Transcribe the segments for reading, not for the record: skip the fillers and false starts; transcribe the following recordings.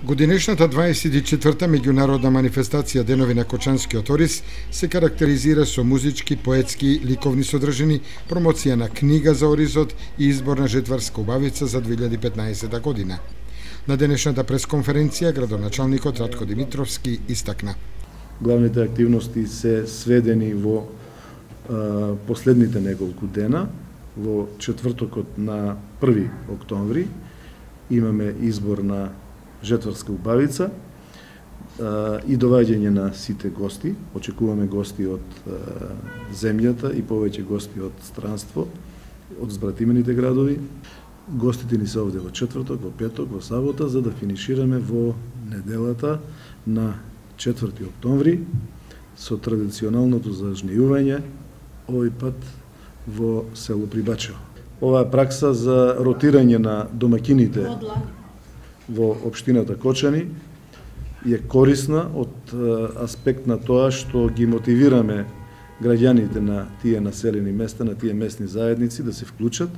Годинешната 24-та меѓународна манифестација Денови на Кочанскиот ориз се карактеризира со музички, поетски, ликовни содржини, промоција на книга за оризот и избор на жетварска убавица за 2015 година. На денешната пресконференција градоначалникот Ратко Димитровски истакна: главните активности се сведени во последните неколку дена. Во четвртокот на 1 октомври имаме избор на жетварска убавица и доваѓање на сите гости. Очекуваме гости од земјата и повеќе гости од странство, од збратимените градови. Гостите ни се овде во четврток, во петок, во сабота, за да финишираме во неделата на 4 октомври со традиционалното зажнејување, овој пат во село Прибачево. Оваа пракса за ротирање на домаќините во општината Кочани е корисна од аспект на тоа што ги мотивираме граѓаните на тие населени места, на тие местни заедници да се вклучат,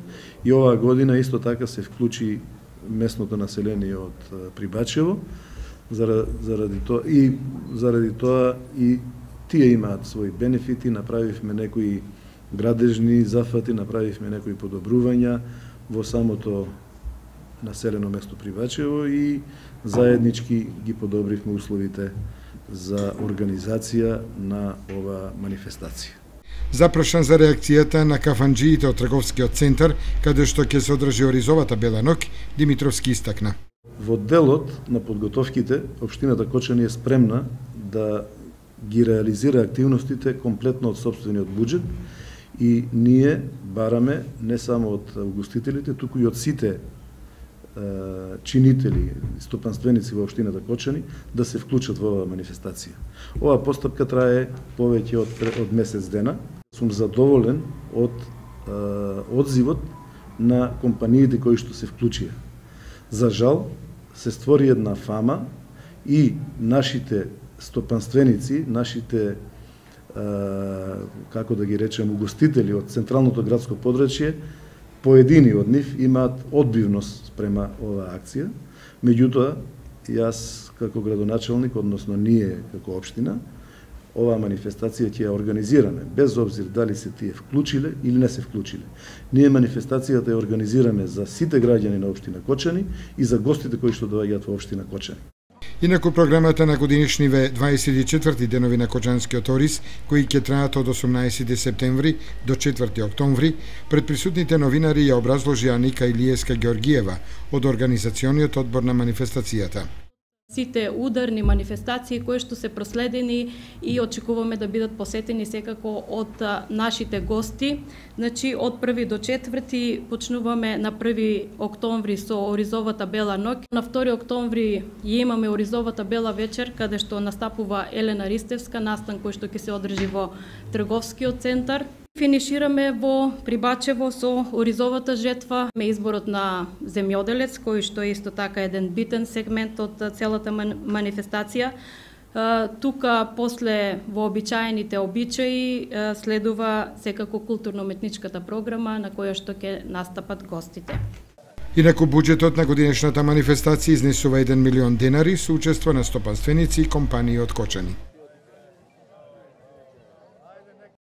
и оваа година исто така се вклучи местното население од Прибачево, заради тоа и тие имаат своји бенефити. Направивме некои градежни зафати, направивме некои подобрувања во самото населено место Прибачево и заеднички ги подобривме условите за организација на ова манифестација. Запрашан за реакцијата на кафанџиите од трговскиот центар, каде што ќе се одржи оризовата Бела ноќ, Димитровски истакна: во делот на подготовките, општината Кочани е спремна да ги реализира активностите комплетно од сопствениот буџет, и ние бараме не само од угостителите, туку и од сите чинители, стопанственици во општината Кочани да се вклучат во оваа манифестација. Оваа постапка трае повеќе од месец дена. Сум задоволен од одзивот на компаниите кои што се вклучија. За жал, се створи една фама и нашите стопанственици, нашите како да ги речем угостители од централното градско подрачје, поедини од нив имаат одбивност спрема оваа акција. Меѓутоа, јас како градоначалник, односно ние како општина, оваа манифестација ќе ја организираме, без обзир дали се тие вклучиле или не се вклучиле. Ние манифестацијата ја организираме за сите граѓани на општина Кочани и за гостите кои што доаѓаат во општина Кочани. Инаку програмата на годинешниве 24-ти Денови на Кочанскиот ориз, кои ќе траат од 18 септември до 4 октомври, пред присутните новинари ја образложи Аника Илиевска Георгиева од организациониот одбор на манифестацијата. Сите ударни манифестации кои што се проследени и очекуваме да бидат посетени секако од нашите гости. Значи, од 1 до 4 почнуваме на 1 октомври со оризовата Бела ноќ. На 2 октомври ја имаме оризовата Бела вечер, каде што настапува Елена Ристевска, настан кој што ќе се одржи во трговскиот центар. Финишираме во Прибачево со оризовата жетва, изборот на земјоделец, кој што е исто така еден битен сегмент од целата манифестација. Тука, после вообичаените обичаи, следува секако културно-уметничката програма на која што ќе настапат гостите. Инаку буџетот на годинешната манифестација изнесува 1 милион денари со учество на стопанственици и компании од Кочани.